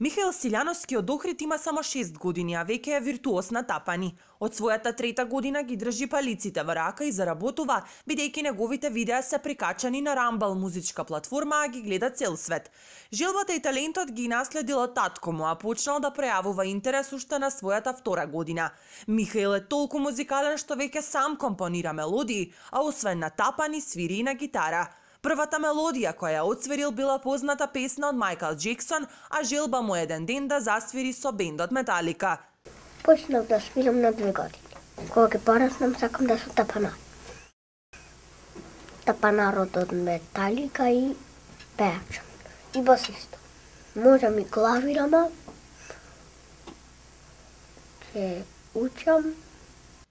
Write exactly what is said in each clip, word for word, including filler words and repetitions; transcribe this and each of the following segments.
Михаил Силјановски од Охрид има само шест години, а веќе е виртуоз на тапани. Од својата трета година ги држи палиците во рака и заработува, бидејќи неговите видеа се прикачани на Рамбал музичка платформа, а ги гледа цел свет. Желбата и талентот ги наследил од татко му, а почнал да пројавува интерес уште на својата втора година. Михаил е толку музикален што веќе сам компонира мелодии, а освен на тапани свири и на гитара. Првата мелодија која ја отсвирил била позната песна од Майкл Джексон, а желба му еден ден да засвири со бендот Металика. Почнав да свирам на две години. Кога ќе пораснам, сакам да сум тапанар. Тапанарот од Металика и пеачот. И басист. Можам и клавирама. Ќе учам.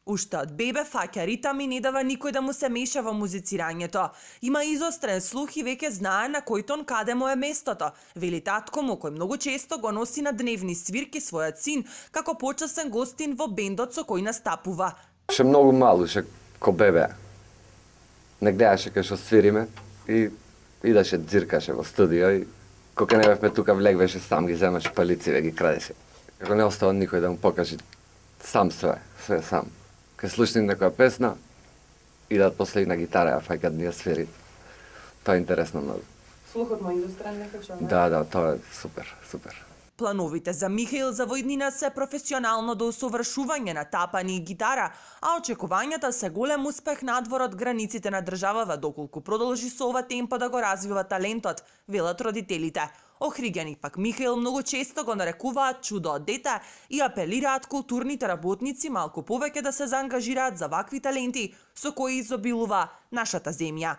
Уште од бебе фаќа ритам и не дава никој да му се меша во музицирањето. Има изострен слух и веќе знае на кој тон каде му е местото. Вели татко му, кој многу често го носи на дневни свирки својот син, како почесен гостин во бендот со кој настапува. Ше многу мал, ше ко бебе. Не гледаше кај што свириме и идеше дзиркаше во студио и кога не бевме тука влегвеше сам ги земаше палици ги крадеше. Како не остава никој да му покаже сам све, све сам. Кај слушнем некоја песна, идат после на гитара, а фаќат ни ја свири. Тоа е интересно многу. Слухот му е индустријален некачо? Да, да, тоа е супер, супер. Плановите за Михаил за војднина се професионално до усовршување на тапани и гитара, а очекувањата се голем успех надвор од границите на државава доколку продолжи со ова темпо да го развива талентот, велат родителите. Охриѓани пак Михаил многу често го нарекуваат чудо од дете и апелираат културните работници малку повеќе да се заангажираат за вакви таленти со кои изобилува нашата земја.